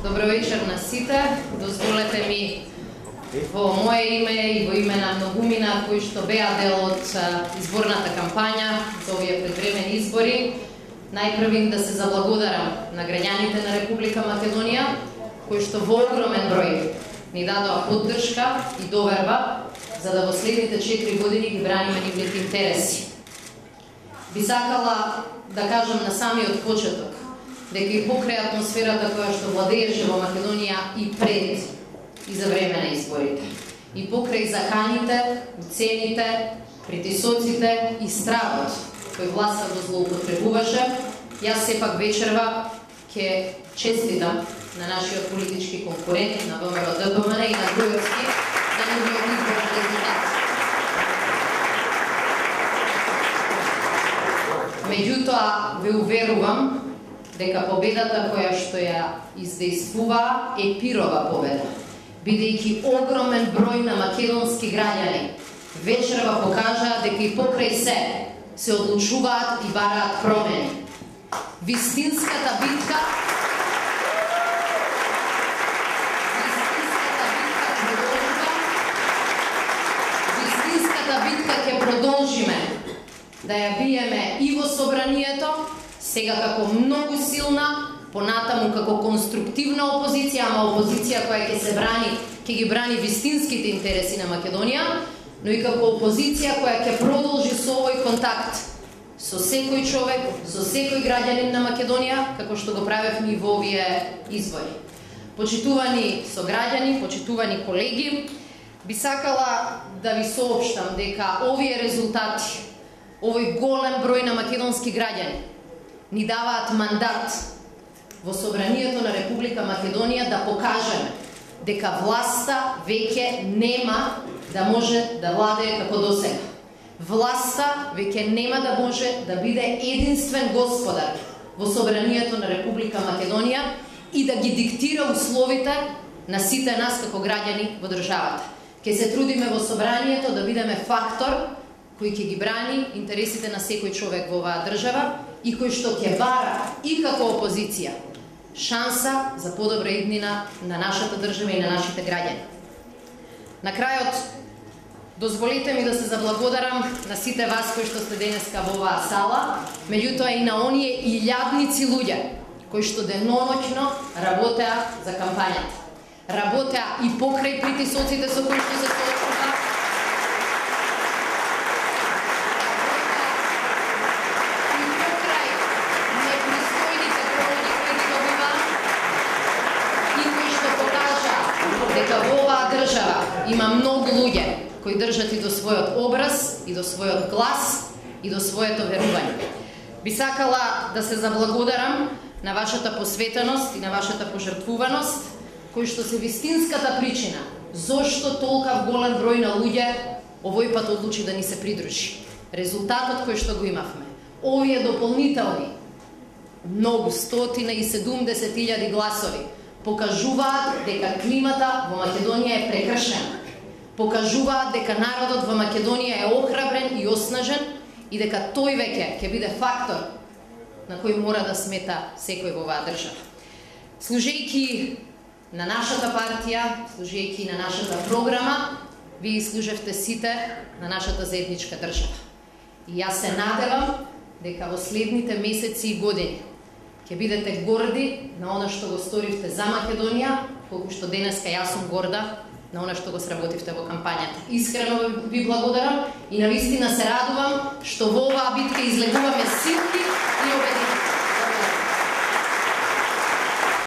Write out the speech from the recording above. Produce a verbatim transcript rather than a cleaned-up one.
Добро вечер на сите. Дозволете ми во мое име и во име на многумина кои што беа дел од изборната кампања за овие предвремени избори, најпрвин да се заблагодарам на граѓаните на Република Македонија, кои што во огромен број ни дадоа поддршка и доверба за да во следните четири години ги браниме нивните интереси. Би сакала да кажам на самиот почеток дека и покрај атмосферата која што владееше во Македонија и пред и за време на изборите, и покрај заканите, уцените, притисоците и стравот кој власта го злоупотребуваше, јас сепак вечерва ќе честитам на нашиот политички конкурент, на ВМРО-ДПМН и на Груевски за нивниот изборен резултат. Меѓутоа, ве уверувам дека победата која што ја издействува е пирова победа, бидејќи огромен број на македонски граѓани вечерва покажаа дека и покрај се се одлучуваат и бараат промени. Вистинската битка Вистинската битка ќе продолжиме да ја биеме и во собранието, сега како многу силна, понатаму како конструктивна опозиција, ама опозиција која ќе се брани, ќе ги брани вистинските интереси на Македонија, но и како опозиција која ќе продолжи со овој контакт со секој човек, со секој граѓанин на Македонија, како што го правевме и во овие избори. Почитувани сограѓани, почитувани колеги, би сакала да ви соопштам дека овие резултати, овој голем број на македонски граѓани ни даваат мандат во собранието на Република Македонија да покажеме дека власта веќе нема да може да владее како досега. Власта веќе нема да може да биде единствен господар во собранието на Република Македонија и да ги диктира условите на сите нас како граѓани во државата. Ќе се трудиме во собранието да бидеме фактор кој ќе ги брани интересите на секој човек во оваа држава и кој што ќе бара и како опозиција шанса за подобра иднина на нашата држава и на нашите граѓани. На крајот, дозволете ми да се заблагодарам на сите вас кои што сте денеска во оваа сала, меѓутоа и на оние илјадници луѓе кои што деноноќно работеа за кампањата. Работеа и покрај притисоците со кои што се соочува, има многу луѓе кои држат и до својот образ, и до својот глас, и до своето верување. Би сакала да се заблагодарам на вашата посветеност и на вашата пожртвуваност, кои што се вистинската причина зошто толкав голем број на луѓе овој пат одлучи да ни се придружи. Резултатот кој што го имавме, овие дополнителни многу стотина и седумдесет илјади гласови покажуваат дека климата во Македонија е прекршена. Покажуваат дека народот во Македонија е охрабрен и оснажен и дека тој веќе ќе биде фактор на кој мора да смета секој во оваа држава. Служејќи на нашата партија, служејќи на нашата програма, вие служевте сите на нашата заедничка држава. И јас се надевам дека во следните месеци и години ќе бидете горди на она што го сторивте за Македонија, колку што денеска јас сум горда на она што го сработивте во кампањата. Искрено ви благодарам и навистина се радувам што во оваа битка излегуваме силни